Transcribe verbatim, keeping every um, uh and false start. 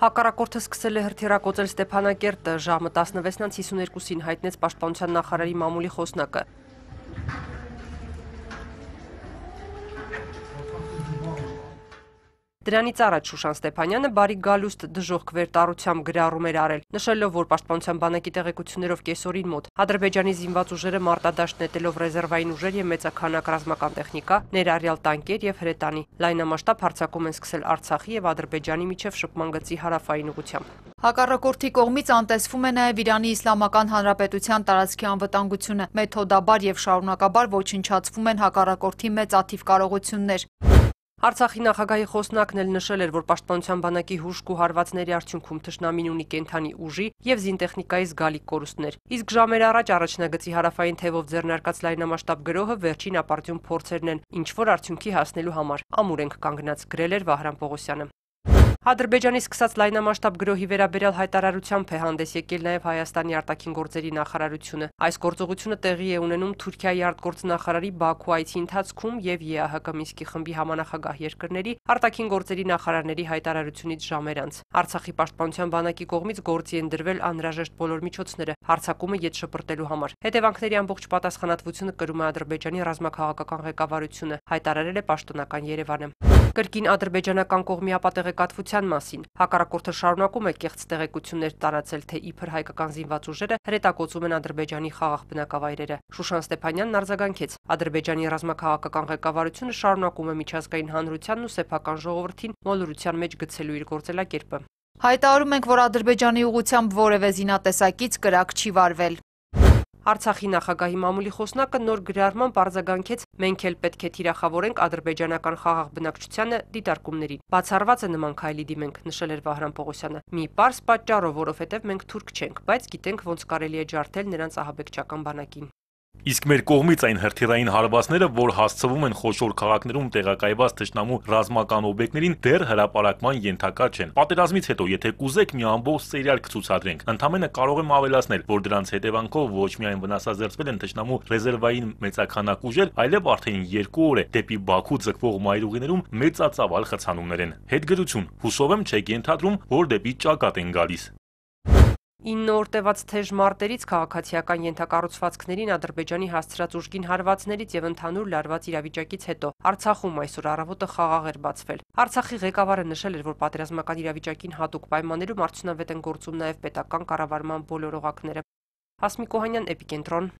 Հակառակորդը սկսել է հրթիռակոծել Ստեփանակերտը, ժամը տասնվեցն հիսուներկուսին հայտնեց Պաշտպանության նախարարի մամուլի խոսնակը։ Դրանից առաջ Շուշան Ստեփանյանը բարի գալուստ դժոխք վերտառությամբ գրառում էր արել, նշելով, որ Պաշտպանության բանակի տեղեկություններով կեսօրին մոտ Ադրբեջանի զինված ուժերը մարտադաշտ նետելով ռեզերվային ուժեր եւ մեծաքանակ ռազմական տեխնիկա, ներառյալ տանկեր եւ հրետանի, լայնամասշտաբ հարձակում են սկսել Արցախի եւ Ադրբեջանի միջև շփման գծի հարավային ուղությամբ։ Հակառակորդի կողմից անտեսվում է նաև Իրանի Իսլամական Հանրապետության տարածքի անվտանգությունը, մեթոդաբար եւ շարունակաբար ոչնչացվում են հակառակորդի մեծ աթիվ կարողություններ։ Արցախի նախագահի խոսնակն էլ նշել էր, որ Պաշտպանության բանակի հուժկ ու հարվածների արդյունքում թշնամին ունի կենթանի ուժի եւ զինտեխնիկայի զգալի կորուստներ։ Իսկ ժամեր առաջ առաջնագծի հարավային թևով ձեռնարկած լայնամասշտաբ գրոհը վերջին ապարդյուն փորձերն են, ինչ որ արդյունքի հասնելու համար ամուր ենք կանգնած, գրել էր Վահրամ Պողոսյանը։ Ադրբեջանի սկսած լայնամասշտաբ գրոհի վերաբերյալ հայտարարությամբ է հանդես եկել նաև Հայաստանի արտաքին գործերի նախարարությունը։ Այս գործողությունը տեղի է ունենում Թուրքիայի արտգործնախարարի Բաքու այցի ընթացքում եւ ԵԱՀԿ Մինսկի խմբի համանախագահ երկրների արտաքին գործերի նախարարների հայտարարությունից ժամեր անց։ Արցախի պաշտպանության բանակի կողմից գործի են դրվել անհրաժեշտ բոլոր միջոցները հարձակումը ետ շպրտելու համար։ Հետևանքների ամբողջ պատասխանատվությունը կրում է Ադրբեջանի ռազմաքաղաքական ղեկավարությունը, հայտարարել է պաշտոնական Երևանը։ Կրկին ադրբեջանական կողմի ապատեղեկատվության մասին հակառակորդը շարունակում է կեղծ տեղեկություններ տարածել, թե իբր հայկական զինված ուժերը հրետակոծում են Ադրբեջանի խաղաղ բնակավայրերը։ Շուշան Ստեփանյանն արձագանքեց. Ադրբեջանի ռազմաքաղաքական ղեկավարությունը շարունակում է միջազգային հանրությանն ու սեփական ժողովրդին մոլորության մեջ գցելու իր գործելակերպը։ Հայտարարում ենք, որ Ադրբեջանի ուղղությամբ որևէ զինատեսակից կրակ չի վարվել։ Արցախի նախագահի մամուլի խոսնակը նոր գրառմամբ արձագանքեց. մենք էլ պետք է թիրախավորենք ադրբեջանական խաղաղ բնակչությանը դիտարկումներին։ Բացառված է նման քայլի դիմենք, նշել էր Վահրամ Պողոսյանը։ Մի պարզ պատճառով, որովհետև մենք թուրք չենք, բայց գիտենք ոնց կարելի է ջարդել նրանց ահաբեկչական բանակին։ Իսկ մեր կողմից այն հրթիռային հարվածները, որ հասցվում են խոշոր քաղաքներում տեղակայված թշնամու ռազմական օբյեկտներին, դեռ հրապարակման ենթակա չեն։ Պատերազմից հետո, եթե կուզեք, մի ամբողջ սերիալ կցուցադրենք։ Ընդամենը կարող եմ ավելացնել, որ դրանց հետևանքով ոչ միայն վնասազերծվել են թշնամու ռեզերվային մեծաքանակ ուժեր, այլև արդեն երկու օր է դեպի Բաքու ձգվող մայրուղիներում մեծածավալ խցանումներ են։ Հետգրություն, հուսով եմ չեք ենթադրում, որ դեպի ճակատ են գալիս։ ինը օր տևած թեժ մարտերից, քաղաքացիական ենթակառուցվածքներին Ադրբեջանի հասցրած ուժգին հարվածներից եւ ընդհանուր լարված իրավիճակից հետո Արցախում այսօր առավոտը խաղաղ էր բացվել։ Արցախի ղեկավարը նշել էր, որ պատերազմական իրավիճակին հատուկ պայմաններում արդյունավետ են գործում նաեւ պետական կառավարման բոլոր օղակները։ Հասմիկ Օհանյան, Էպիկենտրոն։